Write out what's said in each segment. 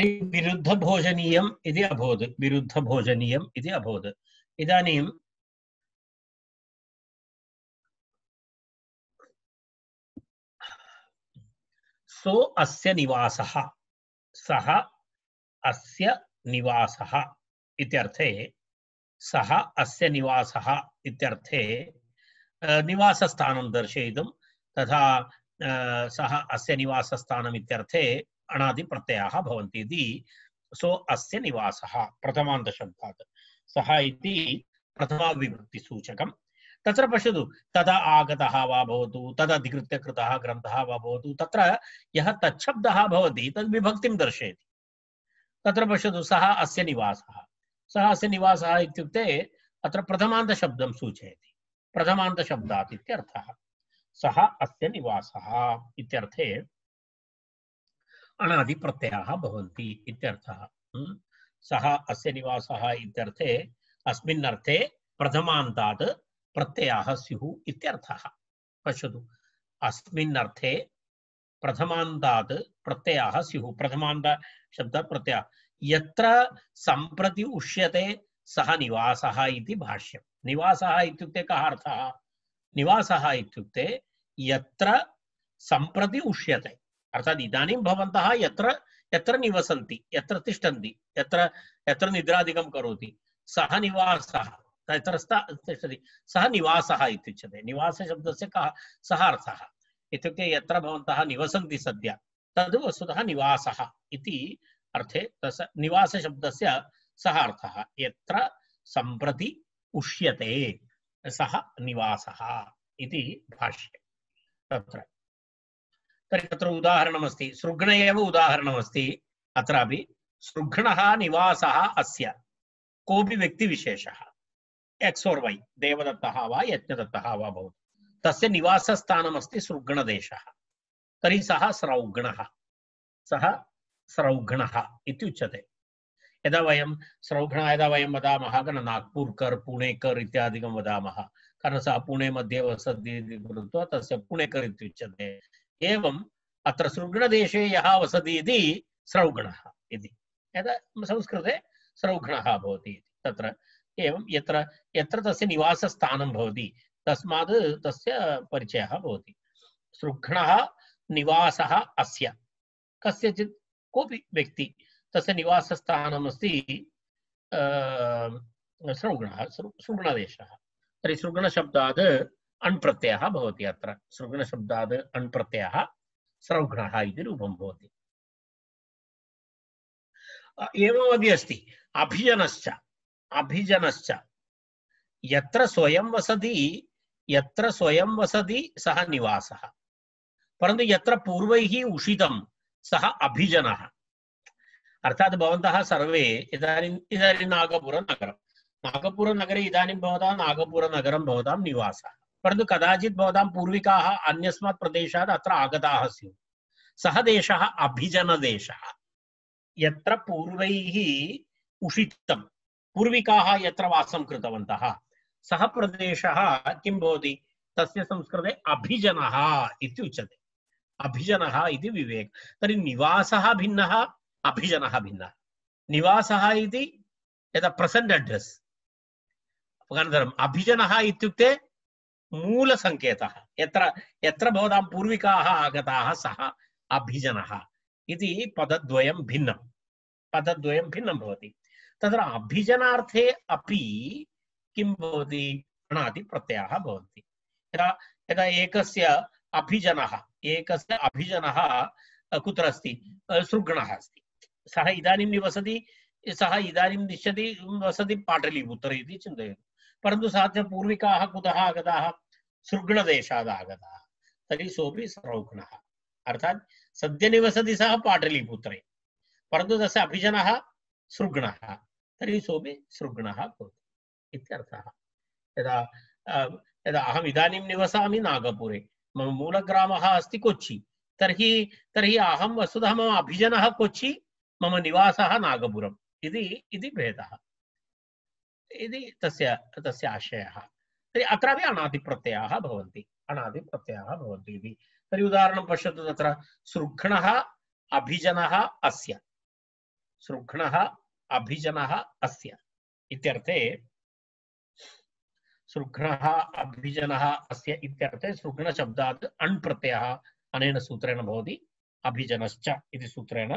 विरुद्धभोजनीयम् इति अभवत् विरुद्धभोजनीयम् इति अभवत् इदानीं सो अस्य निवासः सः अस्य निवासः इत्यर्थे सः अस्य निवासः इत्यर्थे निवासस्थानं दर्शयितुं तथा सः अस्य निवासस्थानम् इत्यर्थे अणादिप्रत्ययाः भवन्ति इति सो अस्य निवासः प्रथमान्तशब्दात् सः इति प्रथमाविभक्तिसूचकम् तत्र पश्यतु तदा आगतः वा भवतु तदधिकृत्य कृतः ग्रन्थः वा भवतु तत्र यः तच्छब्दः भवति तद् विभक्तिं दर्शयति तत्र पश्यतु सः अस्य निवासः इत्युक्ते अत्र प्रथमान्तशब्दं सूचयति प्रथमान्तशब्दात् इत्यर्थः सः अस्य निवासः इत्यर्थे अणादिप्रत्ययाः भवन्ति इत्यर्थः सः अस्य निवासः इत्यर्थे अस्मिन् अर्थे प्रथमान्तात् प्रत्ययाः स्युः इत्यर्थः पश्यतु अस्मिन् अर्थे प्रथमान्तात् प्रत्ययाः स्युः प्रथमान्त शब्दात् प्रत्ययः यत्र सम्प्रति उष्यते सः निवासः इति भाष्यम् निवासः इत्युक्ते कः अर्थः निवासः इत्युक्ते यत्र सम्प्रति उष्यते अर्थात् इदानीं भवन्तः यत्र यत्र निवसन्ति यत्र तिष्ठन्ति यत्र निद्रादिकं करोति सः निवासः तत्र तिष्ठति सः निवासः इत्युच्यते निवासशब्दस्य कः सः अर्थः इत्युक्ते यत्र भवन्तः निवसन्ति सद्य तद् वस्तुतः निवासः इति अर्थे तस्य निवासशब्दस्य सः अर्थः यत्र सम्प्रति उष्यते सः निवासः इति भाष्ये तत्र तर्हि तत्र उदाहरणमस्ति सृग्ण एव उदाहरणमस्ति अत्रापि सृग्णः निवासः अस्य कोऽपि व्यक्तिविशेषः एक्स् और वै देवदत्तः वा यज्ञदत्तः वा भवतु तस्य निवासस्थानमस्ति सृग्णदेशः तर्हि सः स्रौघ्णः इत्युच्यते यदा वयं वदामः नागपुरकर् पुणेकर् इत्यादिकं वदामः कारण सः पुणे मध्ये वसति इति कृत्वा तस्य पुणेकर् इत्युच्यते एवम् अत्र सृग्णदेशे यः वसति इति स्रौघ्णः इति यदा संस्कृते स्रौघ्णः भवति तत्र एवं यत्र यत्र तस्य निवासस्थानं भवति तस्मात् तस्य परिचयः भवति सृग्णः निवासः अस्य कस्यचित् कोऽपि व्यक्ति तस्य निवासस्थानमस्ति सृग्णदेशः तर्हि सृग्णशब्दात् अण् प्रत्ययः भवति अत्र सृग्णशब्दात् अण् प्रत्ययः स्रौघ्णः इति रूपं भवति एवमपि अस्ति अभिजनश्च यत्र स्वयं वसति सः निवासः परन्तु यत्र पूर्वैः उषितं सः अभिजनः अर्थात् भवन्तः सर्वे इदानीं नागपुरनगरे इदानीं भवतां नागपुरनगरं भवतां निवासः परन्तु कदाचित् भवतां पूर्विकाः अन्यस्मात् प्रदेशात् अत्र आगताः स्युः सः देशः अभिजनदेशः यत्र पूर्वैः उषितं पूर्विकाः यत्र वासं कृतवन्तः सः प्रदेशः किं भवति तस्य संस्कृते अभिजनः इत्युच्यते अभिजनः इति विवेक तर्हि निवासः भिन्नः अभिजनः भिन्नः निवासः इति यदा प्रेजेंट एड्रेस अनन्तरम् अभिजनः इत्युक्ते मूलसङ्केतः यत्र यत्र भवतां पूर्विकाः आगताः सः अभिजनः इति पदद्वयं भिन्नं भवति तत्र अभिजनार्थे अपि किं भवति अणादिप्रत्ययाः भवन्ति यदा एकस्य अभिजनः कुत्र अस्ति सृग्णः अस्ति सः इदानीं निवसति सः इदानीं तिष्ठति वसति पाटलीपुत्रे इति चिन्तयतु परन्तु सः च पूर्विकाः कुतः आगताः सृग्णदेशात् आगताः तर्हि सोऽपि स्रौघ्णः अर्थात् सद्य निवसति सः पाटलीपुत्रे परन्तु तस्य अभिजनः सृग्णः तर्हि सोऽपि सृग्णः भवति इत्यर्थः यदा अहम् इदानीं निवसामि नागपुरे मम मूलग्रामः अस्ति कोच्चि तर्हि अहं वस्तुतः मम अभिजनः कोच्चि मम निवासः नागपुरम् इति भेदः इति तस्य आशयः तर्हि अत्रापि अणादिप्रत्ययाः भवन्ति इति तर्हि उदाहरणं पश्यतु तत्र सृग्णः अभिजनः अस्य सृघ्नः अभिजनः अस्य इत्यर्थे सृघ्नः अभिजनः अस्य इत्यर्थे सृघ्नशब्दात् अण् प्रत्ययः अनेन सूत्रेण भवति अभिजनश्च इति सूत्रेण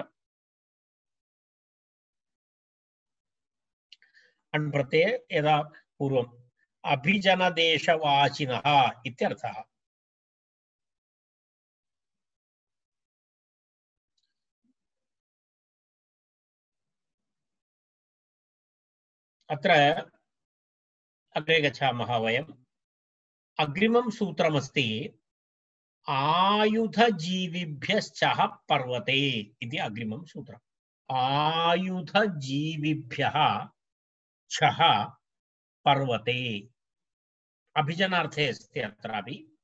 अण् प्रत्यये यदा पूर्वम् अभिजनदेशवाचिनः इत्यर्थः। अत्र अग्रे गच्छामः वयम्। अग्रिमं सूत्रमस्ति आयुधजीविभ्यश्चः पर्वते इति अग्रिमं सूत्रम्। आयुधजीविभ्यः छः पर्वते अभिजनार्थे अस्ति। अत्रापि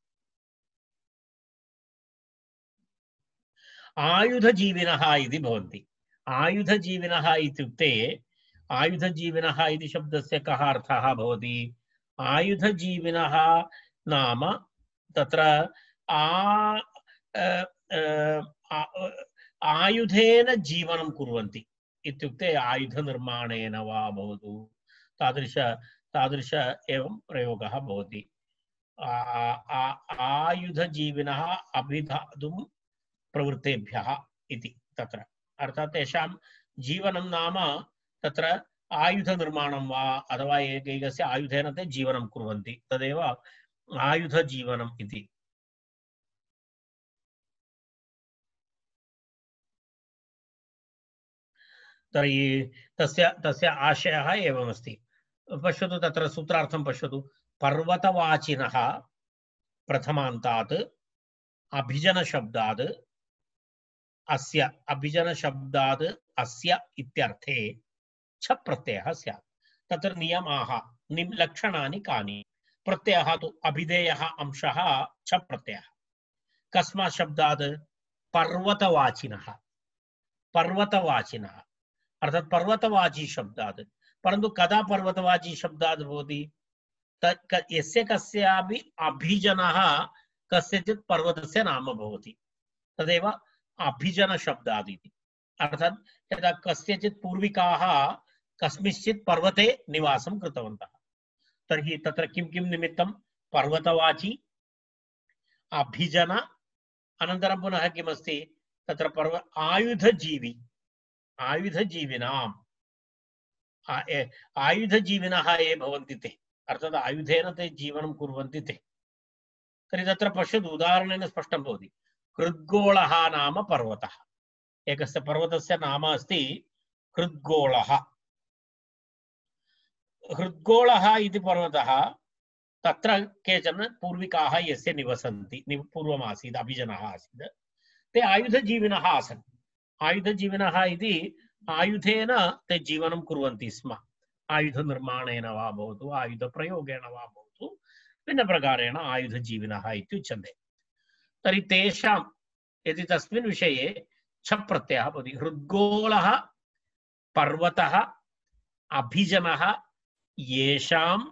आयुधजीविनः इति भवन्ति। आयुधजीविनः इत्युक्ते आयुधजीविनः इति शब्दस्य कः अर्थः भवति? आयुधजीविनः नाम तत्र आयुधेन जीवनं कुर्वन्ति इत्युक्ते आयुधनिर्माणेन वा भवतु तादृश एवं प्रयोगः भवति। आयुधजीविनः अभिधातुं प्रवृत्तेभ्यः इति तत्र अर्थात् तेषां जीवनं नाम तत्र आयुधनिर्माणं वा अथवा एकैकस्य आयुधेन ते जीवनं कुर्वन्ति, तदेव आयुधजीवनम् इति। तर्हि तस्य आशयः एवमस्ति। पश्यतु तत्र सूत्रार्थं पश्यतु। पर्वतवाचिनः प्रथमान्तात् अभिजनशब्दात् अस्य अभिजनशब्दात् अस्य इत्यर्थे छ प्रत्ययः स्यात्। तत्र नियमाः लक्षणानि कानि? प्रत्ययः तु अभिधेयः अंशः छ प्रत्ययः। कस्मात् शब्दात्? पर्वतवाचिनः। पर्वतवाचिनः अर्थात् पर्वतवाची शब्दात्। परन्तु कदा पर्वतवाची शब्दात् भवति? यस्य कस्यापि अभिजनः कस्यचित् पर्वतस्य नाम भवति, तदेव अभिजनशब्दात् इति। अर्थात् यदा कस्यचित् पूर्विकाः कस्मिंश्चित् पर्वते निवासं कृतवन्तः, तर्हि तत्र किं किं निमित्तं? पर्वतवाची, अभिजन, अनन्तरं पुनः किमस्ति तत्र आयुधजीवी। आयुधजीविनाम् आयुधजीविनः ये भवन्ति ते, अर्थात् आयुधेन ते जीवनं कुर्वन्ति ते। तर्हि तत्र पश्यतु, उदाहरणेन स्पष्टं भवति। हृद्गोलः नाम पर्वतः। एकस्य पर्वतस्य नाम अस्ति हृद्गोलः। हृद्गोलः इति पर्वतः, तत्र केचन पूर्विकाः यस्य निवसन्ति, पूर्वमासीत् अभिजनः आसीत्, ते आयुधजीविनः आसन्। आयुधजीविनः इति आयुधेन ते जीवनं कुर्वन्ति स्म। आयुधनिर्माणेन वा भवतु, आयुधप्रयोगेण वा भवतु, भिन्नप्रकारेण आयुधजीविनः इत्युच्यन्ते। तर्हि तेषां यदि तस्मिन् विषये छ प्रत्ययः भवति। हृद्गोलः पर्वतः अभिजनः येषाम्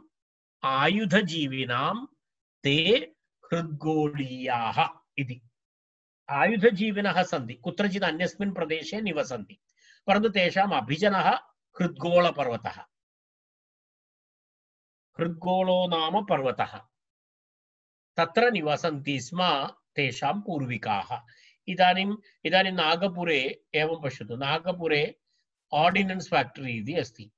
आयुधजीविनां ते हृद्गोलीयाः इति। आयुधजीविनः सन्ति, कुत्रचित् अन्यस्मिन् प्रदेशे निवसन्ति, परन्तु तेषाम् अभिजनः हृद्गोलपर्वतः। हृद्गोलो नाम पर्वतः, तत्र निवसन्ति स्म तेषां पूर्विकाः। इदानीं नागपुरे एवं पश्यतु। नागपुरे ऑर्डिनेंस फैक्टरी इति अस्ति,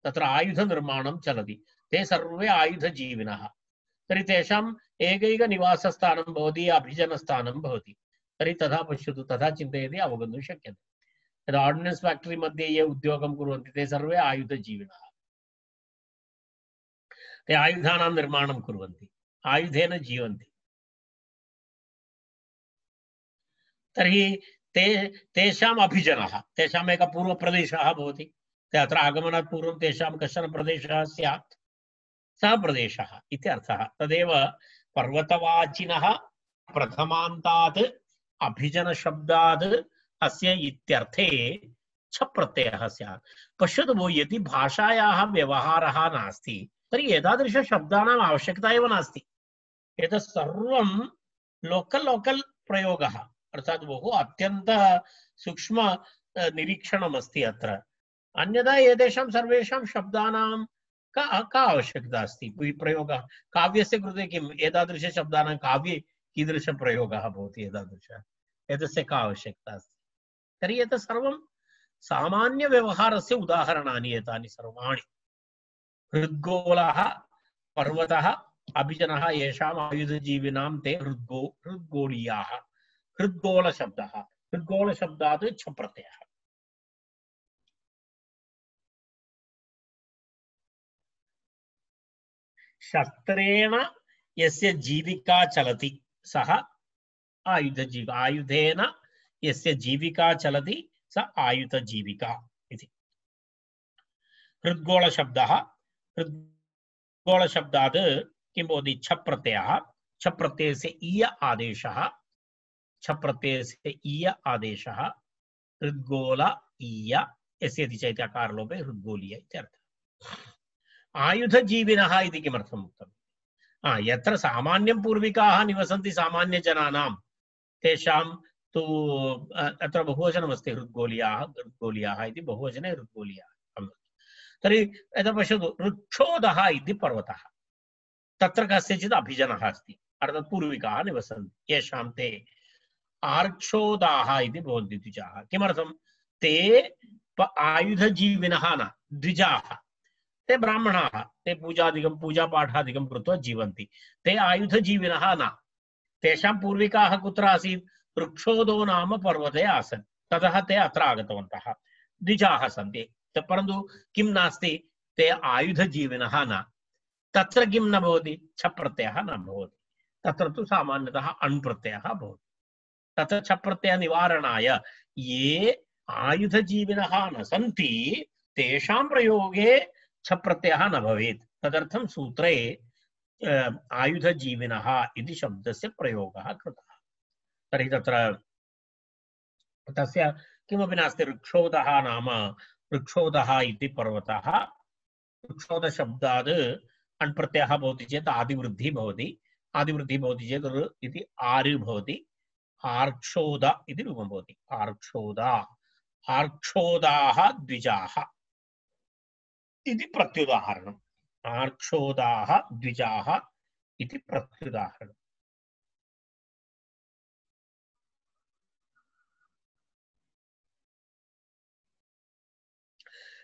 तत्र आयुधनिर्माणं चलति। ते सर्वे आयुधजीविनः। तर्हि तेषाम् एकैकनिवासस्थानं भवति, अभिजनस्थानं भवति। तर्हि तथा पश्यतु, तथा चिन्तयति अवगन्तुं शक्यते। यदा ऑर्डिनेंस फैक्टरी मध्ये ये उद्योगं कुर्वन्ति ते सर्वे आयुधजीविनः। ते आयुधानां निर्माणं कुर्वन्ति, आयुधेन जीवन्ति। तर्हि तेषाम् अभिजनः, तेषाम् एकः पूर्वप्रदेशः भवति। ते अत्र आगमनात् पूर्वं तेषां कश्चन प्रदेशः स्यात्, सः प्रदेशः इति अर्थः। तदेव पर्वतवाचिनः प्रथमान्तात् अभिजनशब्दात् अस्य इत्यर्थे छ प्रत्ययः स्यात्। पश्यतु भो, यदि भाषायाः व्यवहारः नास्ति तर्हि एतादृशशब्दानाम् आवश्यकता एव नास्ति। एतत् सर्वं लोकल् प्रयोगः, अर्थात् बहु अत्यन्त सूक्ष्म निरीक्षणमस्ति अत्र। अन्यथा एतेषां सर्वेषां शब्दानां का आवश्यकता अस्ति? प्रयोगः काव्यस्य कृते किम्? एतादृशशब्दानां काव्ये कीदृशप्रयोगः भवति? एतस्य का आवश्यकता अस्ति? तर्हि एतत् सर्वं सामान्यव्यवहारस्य उदाहरणानि एतानि सर्वाणि। हृद्गोलः पर्वतः अभिजनः येषाम् आयुधजीविनां ते हृद्गोलीयाः। हृद्गोलशब्दः, हृद्गोलशब्दात् छ प्रत्ययः। शस्त्रेण यस्य जीविका चलति सः आयुधजीवी। आयुधेन यस्य जीविका चलति स आयुधजीविका इति। हृद्गोलशब्दः, हृद्गोलशब्दात् किं भवति? छ प्रत्ययः। छ प्रत्ययस्य ईय आदेशः, छ प्रत्ययस्य ईय आदेशः हृद्गोल ईय यस्य चैत्यकारलोपे हृद्गोलीय इत्यर्थः। आयुधजीविनः इति किमर्थम् उक्तम्? यत्र सामान्यं पूर्विकाः निवसन्ति सामान्यजनानां तेषां तु अत्र बहुवचनमस्ति। हृद्गोलीयाः, हृद्गोलीयाः इति बहुवचने हृद्गोलीयाः। तर्हि यदा पश्यतु, ऋक्षोदः इति पर्वतः, तत्र कस्यचित् अभिजनः अस्ति, अर्थात् पूर्विकाः निवसन्ति। येषां ते आर्क्षोदाः इति भवन्ति द्विजाः। किमर्थं? ते आयुधजीविनः न, द्विजाः। ते ब्राह्मणाः, ते पूजापाठादिकं कृत्वा जीवन्ति। ते आयुधजीविनः न। तेषां पूर्विकाः कुत्र आसीत्? ऋक्षोदो नाम पर्वते आसन्। ततः ते अत्र आगतवन्तः, द्विजाः सन्ति। परन्तु किं नास्ति? ते आयुधजीविनः न। तत्र किं न भवति? छ प्रत्ययः न भवति। तत्र तु सामान्यतः अण् प्रत्ययः भवति। तत्र छ प्रत्यय निवारणाय ये आयुधजीविनः न सन्ति तेषां प्रयोगे छ प्रत्ययः न भवेत्। तदर्थं सूत्रे आयुधजीविनः इति शब्दस्य प्रयोगः कृतः। तर्हि तत्र तस्य किमपि नास्ति। ऋक्षोदः नाम, ऋक्षोदः इति पर्वतः, ऋक्षोदशब्दात् अण् प्रत्ययः भवति चेत् आदिवृद्धिः भवति। आदिवृद्धिः भवति चेत् ऋ इति आर् भवति। आर्क्षोद इति रूपं भवति। आर्क्षोदा, आर्क्षोदाः द्विजाः इति प्रत्युदाहरणम्। आर्क्षोदाः द्विजाः इति प्रत्युदाहरणम्।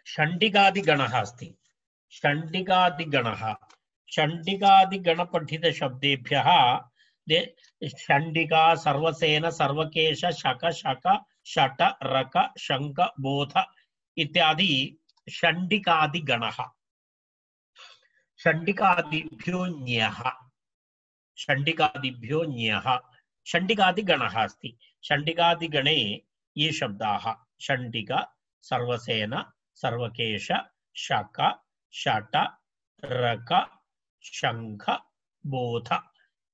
षण्डिकादिगणः अस्ति। षण्डिकादिगणः, षण्डिकादिगणपठितशब्देभ्यः षण्डिका, सर्वसेन, सर्वकेश, शक, शक, षट, रक, शङ्ख, बोध इत्यादि षण्डिकादिगणः। षण्डिकादिभ्यो ञः, षण्डिकादिभ्यो ञः, षण्डिकादिगणः अस्ति। षण्डिकादिगणे ये शब्दाः षण्डिक, सर्वसेन, सर्वकेश, शक, षट, रक, शङ्ख, बोध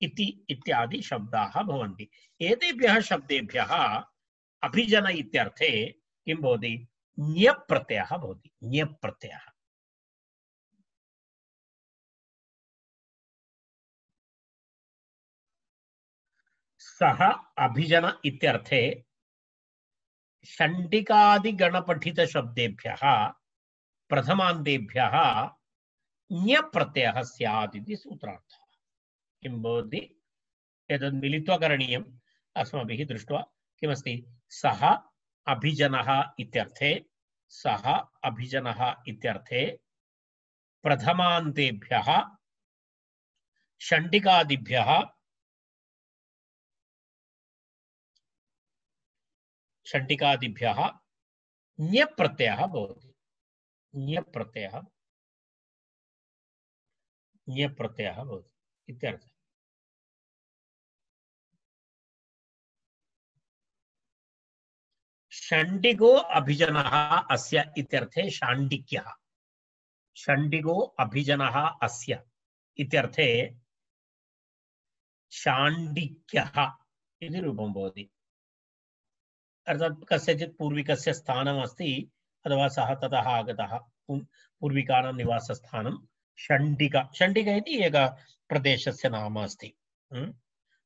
इति इत्यादि शब्दाः भवन्ति। एतेभ्यः शब्देभ्यः अभिजन इत्यर्थे किं भवति? ञ प्रत्ययः भवति। ञ प्रत्ययः। सः अभिजन इत्यर्थे षण्डिकादिगणपठितशब्देभ्यः प्रथमान्तेभ्यः ञ प्रत्ययः स्यात् इति सूत्रार्थः। किं भवति? एतद् मिलित्वा करणीयम्। अस्माभिः दृष्ट्वा किमस्ति? सः अभिजनः इत्यर्थे, सः अभिजनः इत्यर्थे प्रथमान्तेभ्यः षण्डिकादिभ्यः ञ प्रत्ययः भवति। ञ प्रत्ययः भवति इत्यर्थः। षण्डिको अभिजनः अस्य इत्यर्थे षाण्डिक्यः। षण्डिको अभिजनः अस्य इत्यर्थे षाण्डिक्यः इति रूपं भवति। अर्थात् कस्यचित् पूर्विकस्य स्थानमस्ति अथवा सः ततः आगतः, पूर्विकानां निवासस्थानं षण्डिका। षण्डिका इति एक प्रदेशस्य नाम अस्ति।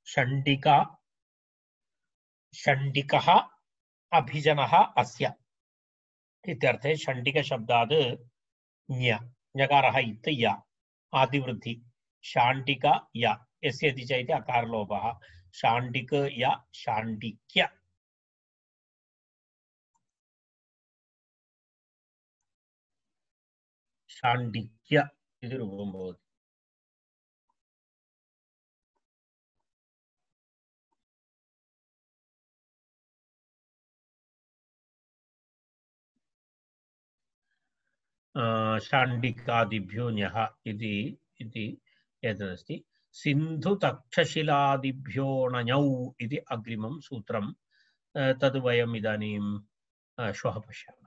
षण्डिका, षण्डिकः अभिजनः अस्य इत्यर्थे षण्टिकशब्दात् ञ ञकारः इत् य आदिवृद्धि शाण्टिक य यस्य इति च इति अकारलोपः शाण्टिक य शाण्टिक्य शाण्डिक्य इति रूपं भवति। शाण्डिकादिभ्यो ञः इति एतदस्ति। सिन्धुतक्षशिलादिभ्यो णञौ इति अग्रिमं सूत्रं तद् वयम् इदानीं श्वः पश्यामः।